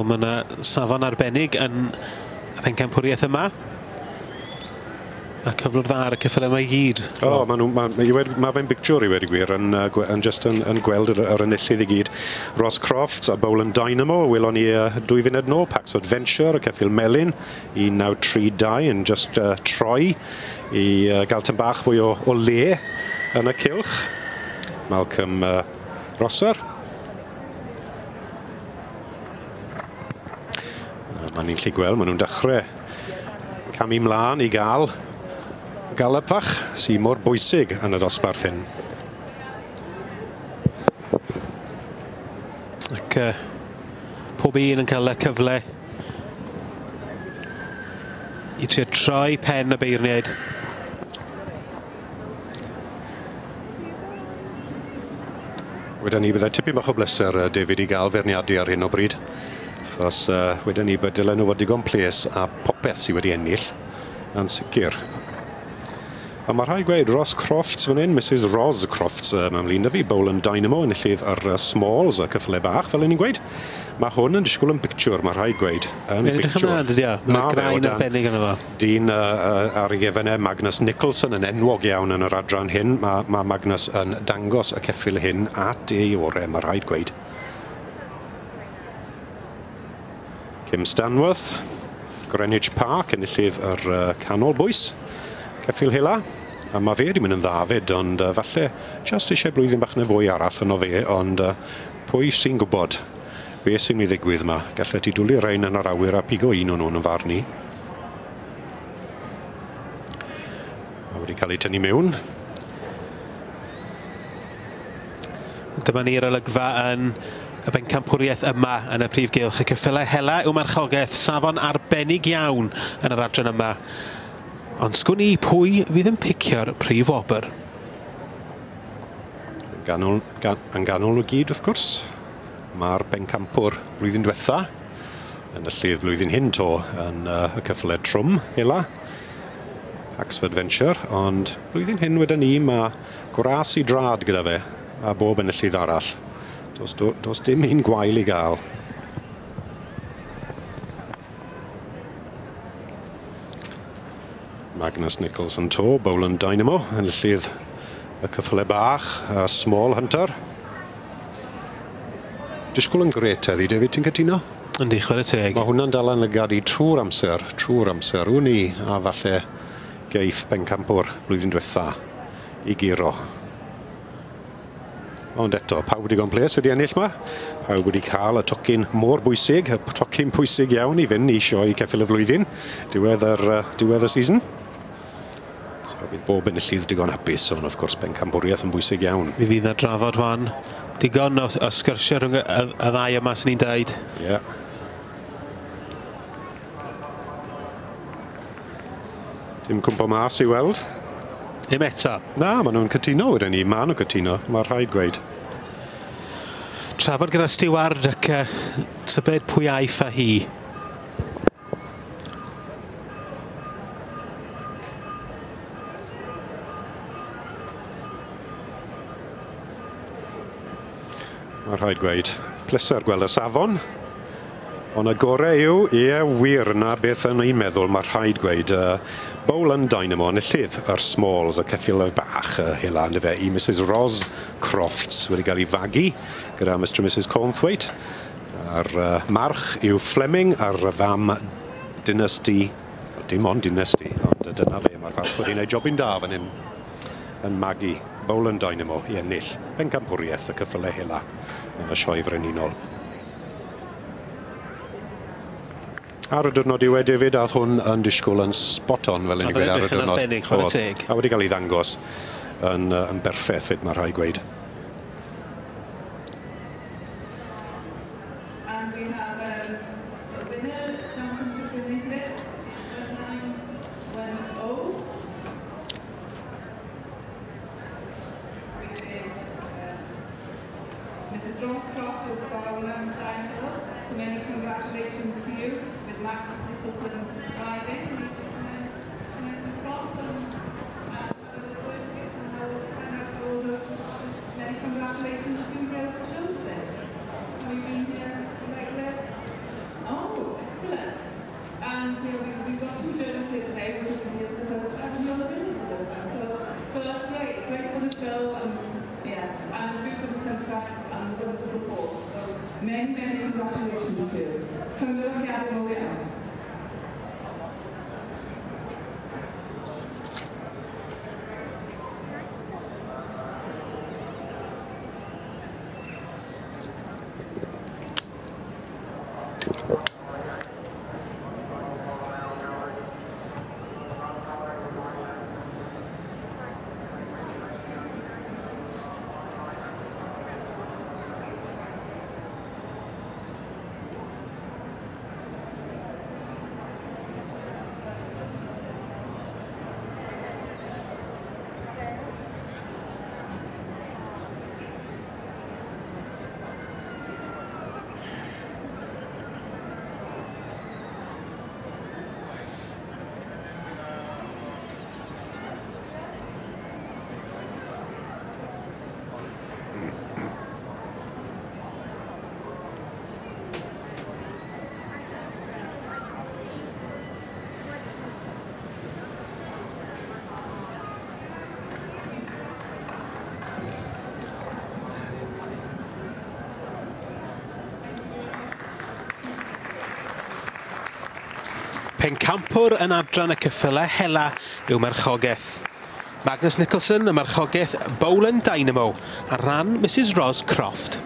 Mae yna safon arbennig yn y pencampwriaeth yma. A cyflwr dda ar y ceffylau yma i gyd. O, ma fe'n bictiwr i wedi gwir, yn just yn gweld yr enillydd i gyd. Ross Crofts a Bowland Dynamo, welon ni 2 funud nôl, Pax Adventure, y ceffyl melyn, 1932, yn just troi i gael tyn bach fwy o le yn y cylch. Malcolm Rosser. Mae ni'n gallu gweld, maen nhw'n dechrau camu mlaen i gael galop fach sy'n mor bwysig yn y dosbarth hyn. Ac pob un yn cael y cyfle i trio troi pen y beirniaid. Wedyn ni byddai tipyn bach o bleser, David, i gael feirniadu ar hyn o bryd. Achos wedyn ni bydd dylen nhw fod digon ples a popeth sydd wedi ennill yn sicr. A mae rhaid gweud Ross Crofts fan hyn, Mrs Ros Crofts, mae'n flin 'da fi, Bowland Dynamo, enillydd yr Smalls, y ceffyle bach, fel o'n i'n gweud. Mae hwn yn disgwyl yn bictiwr, mae rhaid gweud, yn Mae'n edrych bictiwr. ymlaen, dydi o? Mae'n Ma' fe o graen dan arbennig yno fo. Dyn ar ei gefn e, Magnus Nicholson, yn enwog iawn yn yr adran hyn. Mae Magnus yn dangos y ceffyl hyn at ei orau, mae rhaid gweud. Kim Stanworth, Greenwich Park, enillydd yr canol bwys, ceffyl hela. A mae fe wedi mynd yn dda fyd, ond falle just eisiau blwyddyn bach neu fwy arall yno fe, ond pwy sy'n gwybod beth sy'n mynd i ddigwydd yma. Gallet ti dwlu rhain yn yr awyr a pigo un o'n nhw'n yn farn i. Mae wedi cael ei tynnu mewn. Dyma ni'r olygfa yn y bencampwriaeth yma yn y prif gylch. Y ceffylau hela yw marchogaeth, safon arbennig iawn yn yr adran yma. Ond sgwn i pwy fydd yn picio'r prif wobr. Yn ganol nhw gyd, wrth gwrs, mae'r bencampwr blwyddyn diwetha, yn y llydd blwyddyn hyn to, yn y ceffylau trwm, hela, Paxford Venture, ond blwyddyn hyn wedyn ni, mae gras i drad gyda fe, a bob enillydd arall. Does dim un gwael i gael. Magnus Nicholson to, Bowland Dynamo, enillydd y ceffylau bach, a Small Hunter. Disgwyl yn gret heddi, David, ti'n cytuno? Yndi, chwarae teg. Mae hwnna'n dal yn lygad i trwy'r amser, trwy'r amser. Wn i, a falle geiff bencampwr blwyddyn diwetha i guro. Ond eto, pawb wedi digon ples wedi ennill ma. Pawb wedi cael y tocyn mor bwysig, y tocyn pwysig iawn i fynd i sioe ceffyl y flwyddyn, diwedd y season. So bydd bob enillydd digon hapus, ond wrth gwrs bencampwriaeth yn bwysig iawn. Mi fydd na drafod wan. Digon o sgyrsiau rhwng y ddau yma sy'n ni'n deud. Ie. Dim cwmpo mas i weld. Ddim eto. Na, maen nhw'n cytuno wedyn ni. Maen nhw'n cytuno, mae rhaid gweud. Trafod gyda Stiward ac tybed pwy aiff â hi. Mae rhaid gweud, pleser gweld y safon. Ond y gorau yw, ie, wir, na beth yn ein meddwl, mae rhaid gweud, Bowland Dynamo, enillydd yr Smalls, y ceffyl bach, hela, yndyfe, i Mrs Ros Crofts, wedi cael ei fagu gyda Mr and Mrs Cornthwaite. A'r march yw Fleming, a'r fam Dynasty, dim ond Dynasty, ond dyna fe, mae'r farch wedi gwneud jobyn da fan hyn yn magu Bowland Dynamo i ennill bencampwriaeth y ceffylau hela yn y sioe frenhinol. Ar y diwrnod yw e, David, a oedd hwn yn disgwyl yn spot on, fel o'n i'n Oedd e'n gweud ar y edrych yn diwrnod. arbennig, chwarae Oedd. teg. A wedi cael ei ddangos yn berffaith, fyd, mae rhaid gweud. And we have the winner, Championship in England, 910, which is Mrs Ross Croft of Bowland Dynamo. So many congratulations to you with Magnus Nicholson riding. Many congratulations to you, Josephine. Have you been here regular? Many, many congratulations to you. Llongyfarchiadau mawr iawn. Pencampwr yn adran y ceffylau hela yw marchogaeth. Magnus Nicholson, y marchogaeth Bowland Dynamo, ar ran Mrs Ros Croft.